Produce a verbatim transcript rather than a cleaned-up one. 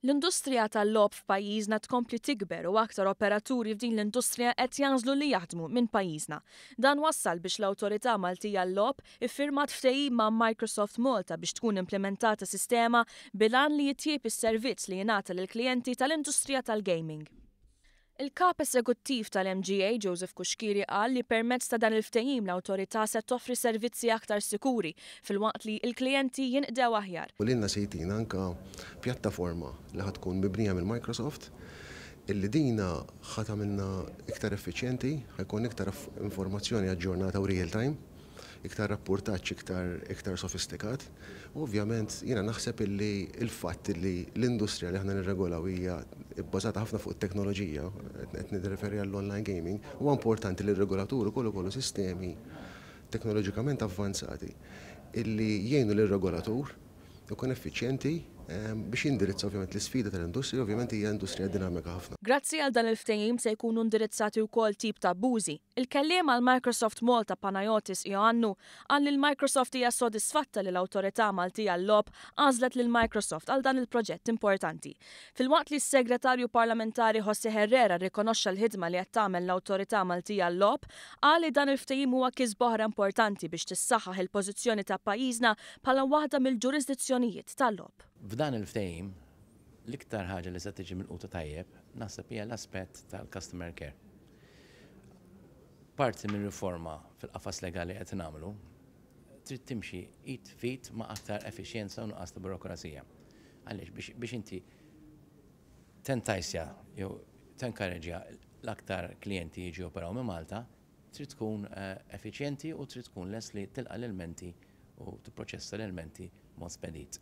L-industrija tal-logħob f'pajjiżna tkompli tikber u aktar operaturi f'din l-industrija qed jagħżlu li jaħdmu minn pajjiżna. Dan wassal biex l-Awtorità Maltija għal-Logħob iffirmat ftehim ma' Microsoft Malta biex tkun implementata sistema bil-għan li jitjieb is-servizz li jingħata lill-klijenti tal-industrija tal-gaming. Il-kap eżekuttiv tal-M G A Joseph Cuschieri qal li permezz ta' dan il-ftehim l-awtorità se toffri servizzi aktar sikuri filwaqt li l-klijenti jinqdew aħjar. U lilna se jtina anka pjattaforma li ħa tkun mibnija mill Microsoft illi dina ħa tagħmilna iktar effiċjenti, ħa jkun iktar informazzjoni aġġornata u real time, iktar rapportaġġ iktar, iktar sofistikat. U ovvjament jiena naħseb illi il-fatt illi l-industrija li aħna nirregolaw hija bbażata ħafna fuq it-teknoloġija, qed nirreferi għall-online gaming, huwa importanti li r-regolatur ukoll ikollu sistemi teknoloġikament avvanzati illi jgħinu lir-regolatur ikun effiċjenti ehm, biex jindirizza ovvjament l-isfida tal-industrija, ovvjament hija industrija dinamika ħafna. Grazzi għal dan il-ftehim se jkunu indirizzati wkoll tip ta' abbużi. Il-kelliem għal Microsoft Malta, Panayotis Ioannu, qal li l-Microsoft hija sodisfatta li l-Awtorità Maltija għal-Logħob għażlet lil Microsoft għal dan il-proġett importanti. Filwaqt li s-segretarju parlamentari José Herrera rikonoxxa l-ħidma li qed tagħmel l-Awtorità Maltija għal-Logħob, qal li dan il-ftehim huwa kisba oħra importanti biex tissaħħaħ il-pożizzjoni ta' pajjiżna bħala waħda mill-ġurisdizzjonijiet tal-logħob. F'dan il-ftehim, l-iktar ħaġa li se tiġi milquta tajjeb, naħseb, hija l-aspett tal-customer care. Parti minn riforma fil-qafas legali qed nagħmlu trid timxi id f'id ma' aktar effiċjenza u nuqqas ta' burokrazija. Għaliex biex, biex inti tentajsja jew tenkareġja l-aktar klijenti jiġu operaw minn Malta, trid tkun eh, effiċjenti u trid tkun lest li tilqa' l-ilmenti u tipproċessa l-ilmenti mod spedit.